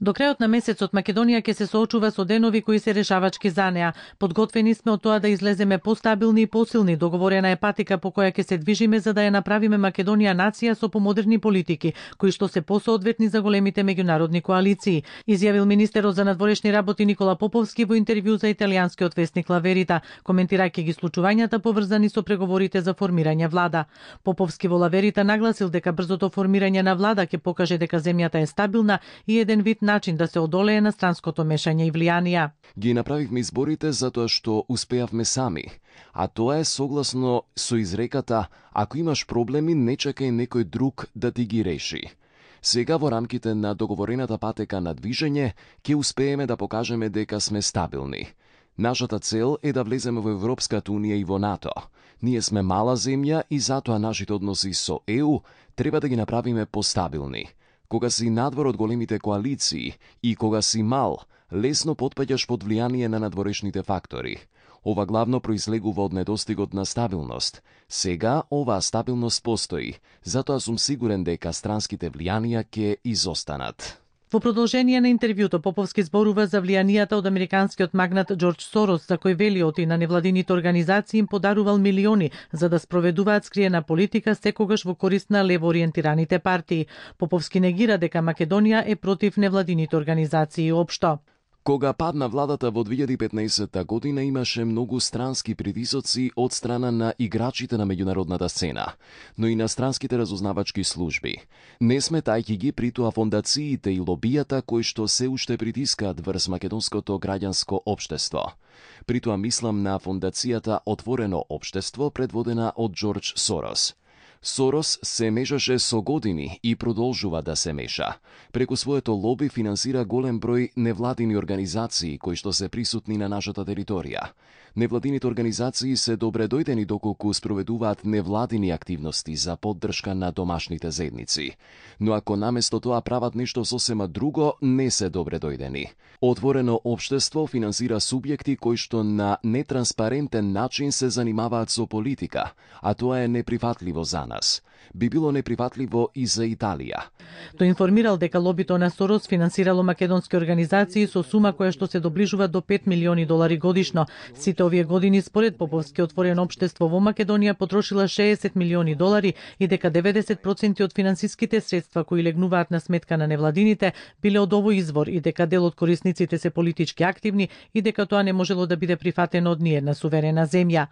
До крајот на месецот Македонија ќе се соочува со денови кои се решавачки за неа. Подготвени сме од тоа да излеземе постабилни и посилни. Договорена е патика по која ќе се движиме за да ја направиме Македонија нација со помодерни политики, кои што се посоодветни за големите меѓународни коалиции, изјавил министерот за надворешни работи Никола Поповски во интервју за италијанскиот весник Ла Верита, коментирајќи ги случувањата поврзани со преговорите за формирање влада. Поповски во Ла Верита нагласил дека брзото формирање на влада ќе покаже дека земјата е стабилна и еден вид начин да се одолее на странското мешање и влијанија. Ги направивме изборите затоа што успеавме сами, а тоа е согласно со изреката ако имаш проблеми не чекај некој друг да ти ги реши. Сега во рамките на договорената патека на движење ќе успееме да покажеме дека сме стабилни. Нашата цел е да влеземе во Европската унија и во НАТО. Ние сме мала земја и затоа нашите односи со ЕУ треба да ги направиме постабилни. Кога си надвор од големите коалиции и кога си мал, лесно потпаѓаш под влијание на надворешните фактори. Ова главно произлегува од недостигот на стабилност. Сега оваа стабилност постои, затоа сум сигурен дека странските влијанија ќе изостанат. Во продолжение на интервјуто, Поповски зборува за влијанијата од американскиот магнат Џорџ Сорос, за кој велиот и на невладините организации им подарувал милиони за да спроведуваат скриена политика секогаш во корист на лево-ориентираните партии. Поповски негира дека Македонија е против невладините организации општо. Кога падна владата во 2015 година имаше многу странски притисоци од страна на играчите на меѓународната сцена, но и на странските разузнавачки служби. Не сметајќи ги при тоа фондациите и лобијата кои што се уште притискаат врз македонското граѓанско општество. При тоа мислам на фондацијата Отворено општество предводена од Џорџ Сорос. Сорос се мешаше со години и продолжува да се меша. Преку своето лоби финансира голем број невладини организации кои што се присутни на нашата територија. Невладините организации се добре дојдени доколку спроведуваат невладини активности за поддршка на домашните заедници. Но ако наместо тоа прават нешто сосема друго, не се добре дојдени. Отворено општество финансира субјекти кои што на нетранспарентен начин се занимаваат со политика, а тоа е неприфатливо за нас. Би било неприфатливо и за Италија. Тој информирал дека лобито на Сорос финансирало македонски организации со сума која што се доближува до 5 милиони долари годишно. Сите овие години според Поповски Отворено општество во Македонија потрошила 60 милиони долари и дека 90% од финансиските средства кои легнуваат на сметка на невладините биле од овој извор и дека дел од корисниците се политички активни и дека тоа не можело да биде прифатено од ниедна суверена земја.